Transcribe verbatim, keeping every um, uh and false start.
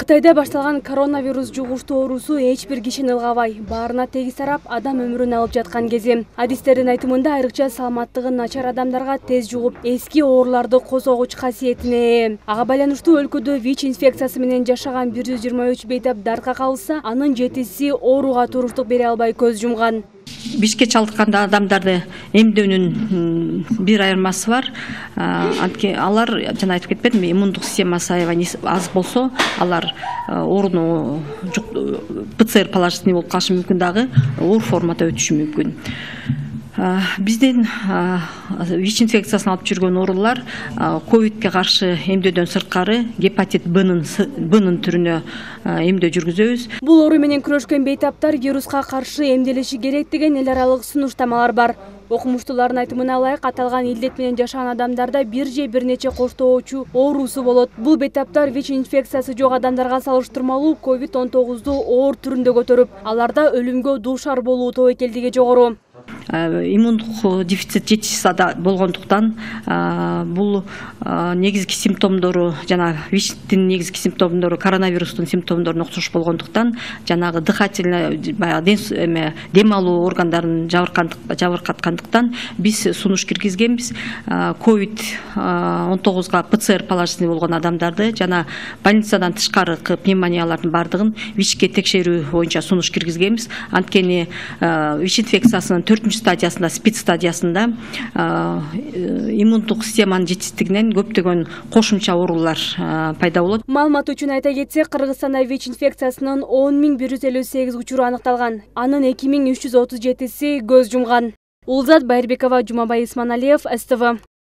Кытайда башталган коронавирус жугуштуу оорусу эч бир кишини ылгабай, баарына тегиз тарап, адам өмүрүн алып жаткан кези. Адистердин айтымында айрыкча саламаттыгы начар адамдарга тез жугуп, эски ооруларды козгогуч касиетине ээ. Ага байланыштуу өлкөдө ВИЧ инфекциясы менен жашаган бир жүз жыйырма үч бейтап дартка кабылса, анын жетиси ооруга туруктук бере албай көз жумган. ВИЧке чалдыккан адамдарды эмдөөнүн бир айырмасы бар. Анткени алар жана айтып кетпедимби, иммундук системасы аябай аз болсо, алар ооруну ПЦР положительный болуп калышы мүмкүн, дагы оор формада өтүшү мүмкүн. Биздин ВИЧ инфекциясын алып жүргөн оорулар ковидке каршы эмдөөдөн сырткары гепатит Бнын түрүнө эмдөө жүргүзөбүз. Бул оору менен күрөшкөн бейтаптар вируска каршы эмделиши керек деген эл аралык сунуштамалар бар. Окумуштуулардын айтымына ылайык, аталган илдет менен жашаган адамдарда бир же бир нече коштоочу оорусу болот. Бул бейтаптар ВИЧ инфекциясы жок адамдарга салыштырмалуу ковид он тогузду оор түрүндө көтөрүп, аларда өлүмгө дуушар болуу тобокелдиги жогору. Иммундук дефицит жетишсиз болгондуктан бул негизги симптомдору жана ВИЧтин негизги симптомдору коронавирустун симптомдоруна окшош болгондуктан жанагы дыхательный баягы дем алуу органдарын жабыркаткандыктан биз сунуш киргизгенбиз. ковид он тогузга ПЦР положительный болгон адамдарды жана больницадан тышкаркы пневмониялардын бардыгын ВИЧке текшерүү боюнча сунуш киргизгенбиз. Анткени ВИЧ инфекциясынын төртүнчү стадиясында, спид стадиясында иммундук системанын жетишсиздигинен көптөгөн кошумча оорулар пайда болот. Маалымат үчүн айта кетсек, Кыргызстанда ВИЧ инфекциясынын он миң бир жүз элүү сегиз учуру аныкталган. Анын эки миң үч жүз отуз жетиси көз жумган. Улзат Байырбекова, Жумабай Исманалиев, СТВ.